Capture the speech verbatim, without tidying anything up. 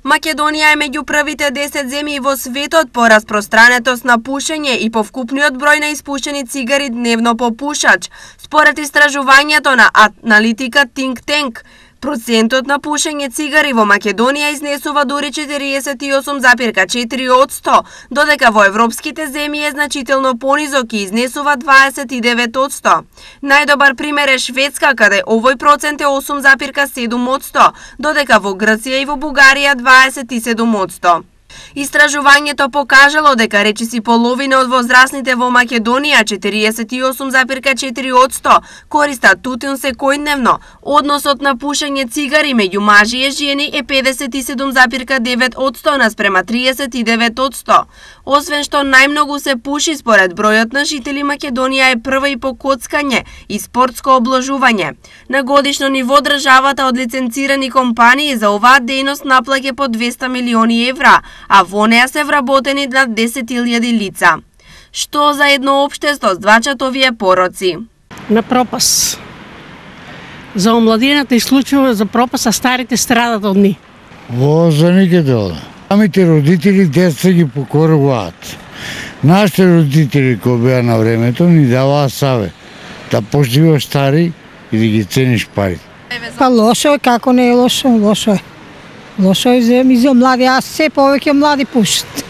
Македонија е меѓу првите десет земји во светот по распространетост на пушење и по вкупниот број на испушени цигари дневно по пушач. Според истражувањето на аналитика Think Tank, процентот на пушење цигари во Македонија изнесува дури четириесет и осум запирка четири одсто, додека во европските земји е значително понизок и изнесува дваесет и девет одсто. Најдобар пример е Шведска, каде овој процент е осум запирка седум одсто, додека во Грција и во Бугарија дваесет и седум одсто. Истражувањето покажало дека речиси половина од возрастните во Македонија, четириесет и осум запирка четири одсто, користат тутун секојдневно. Односот на пушење цигари меѓу мажи и жени е педесет и седум запирка девет одсто наспрема триесет и девет одсто. Освен што најмногу се пуши според бројот на жители, Македонија е прва и по коцкање и спортско обложување. На годишно ниво државата од лиценцирани компании за оваа дејност наплаќа по двесте милиони евра, а во неа се вработени над десет илјади лица. Што за едно општество здвачат овие пороци? На пропас. За омладината и случајува за пропас, а старите страдат од ни. Во за никаде ода. Самите родители деца ги покоруваат. Нашите родители кои беа на времето ни даваа савет да поживаш стари и да ги цениш пари. Па лошо е, како не е лошо, лошо е. Лошо е за, за млади, а се повеќе млади пушат.